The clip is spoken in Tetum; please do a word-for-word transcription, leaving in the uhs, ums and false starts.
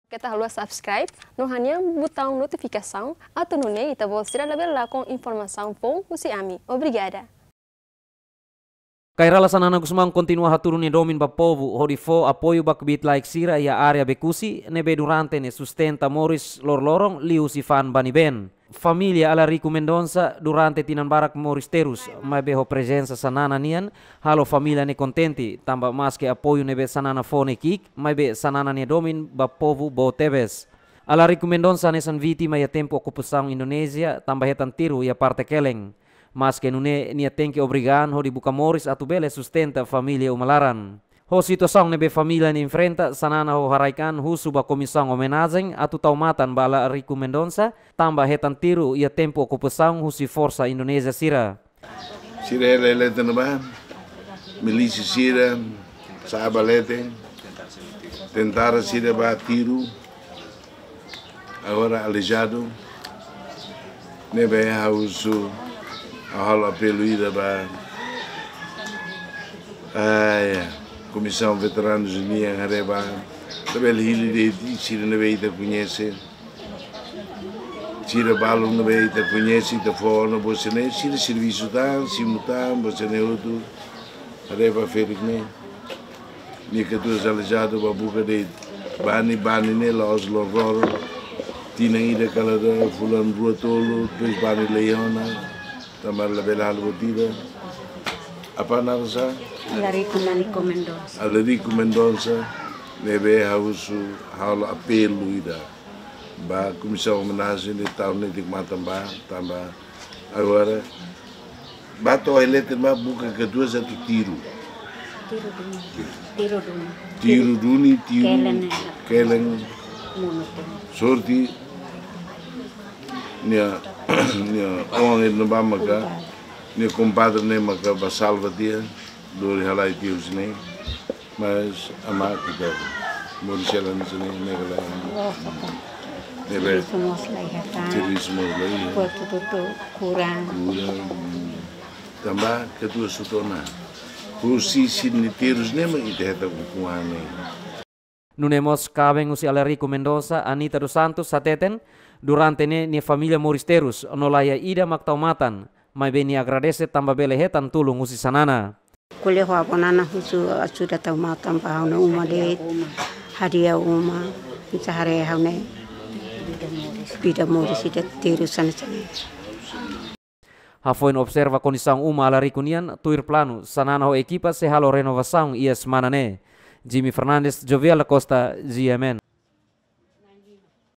Keta haluha subscribe no hanehan butaun notifikasaun atu nune'e ita-boot sira labele lakon informasaun foun husi ami. Obrigada. Kay Rala Xanana Gusmão kontinua hatudu nia domin ba povu hodi fó apoiu ba kbiit-laek sira iha área Becusse ne'ebé durante ne'e sustenta moris loroloron liuhusi fa'an bani-been. Família Alarico Mendonça durante tinan barak moris terus, maibé ho prezensa Xanana nian halo família ne'e kontente, tanba maske apoiu ne'ebé Xanana fó ne'e ki'ik, maibé Xanana nia domin ba povu boot tebes. Alarico Mendonça hanesan vítima iha tempu okupasaun Indonézia, tanba hetan tiru iha parte kelen. Maske nune'e nia tenke obriga an hodi buka moris atu bele sustenta família uma laran. Ho situasaun ne'ebé família ne'e enfrenta, Xanana ho haraik an husu ba Komisaun Omenajen atu tau matan ba Alarico Mendonça, tanba hetan tiru iha tempu okupasaun husi forsa Indonézia sira. Sira hela leten ba, milísia sira sa'e ba leten, tentara sira ba tiru, agora aleijadu, ne'ebé ha'u husu, ha'u halo apelu ida ba, ah, ya, Komisaun Veteranus nian haree ba, labele hili de'it sira ne'ebé ita koñese, sira balun ne'ebé ita koñese, ita fó ona ba sira-ne'e, sira servisu tan, simu tan, ba sira-ne'e hotu, haree ba ferik ne'e. Nia katuas aleijadu ba buka de'it. Bani, bani ne'e la'ós loroloron. Tinan ida ka lae, fulan rua tolu, depois bani lei ona. Tanba labele halo buat ida. Apá naran sá? Alarico Mendonça. Alarico Mendonça, ne'ebé ha'u husu halo apelu ida ba Komisaun Omenajen atu tau netik matan ba, tanba agora ba to'o iha leten ba buka katuas atu tiru. Tiru duni. Tiru duni. Tiru duni, tiru kelen. Kelen. Monu tu. Sorte nia, nia oan ne'e ba maka, nia kompadre ne'e maka ba salva tiha, lori halai tiha husi ne'e. Mas amá ita moris hela hanesan ne'e, ne'e ka lae. Ne'ebé servisu mós la iha. Servisu mós la iha. Kuartu hotu kuran. Kuran. Tanba katuas hotu ona. Husi sira-nia terus ne'e mak ita hetan ukun-an ne'e. Nune'e mós kaben husi Alarico Mendonça, Anita dos Santos, hateten, durante ne'e nia família moris terus, no laiha ida mak tau matan, maibé nia agradese tanba bele hetan tulun husi Xanana. Ko'alia ho avó Nana husu ajuda tau matan ba ha'u-nia uma de'it, hadi'a uma, hanesan haree ha'u-nia vida moris ida terus hanesan ne'e. Hafoin observa kondisaun uma Alarico nian, tuir planu, Xanana ho ekipa sei halo renovasaun iha semana ne'e. Jimmy Fernandes, Jovial da Costa, G M N.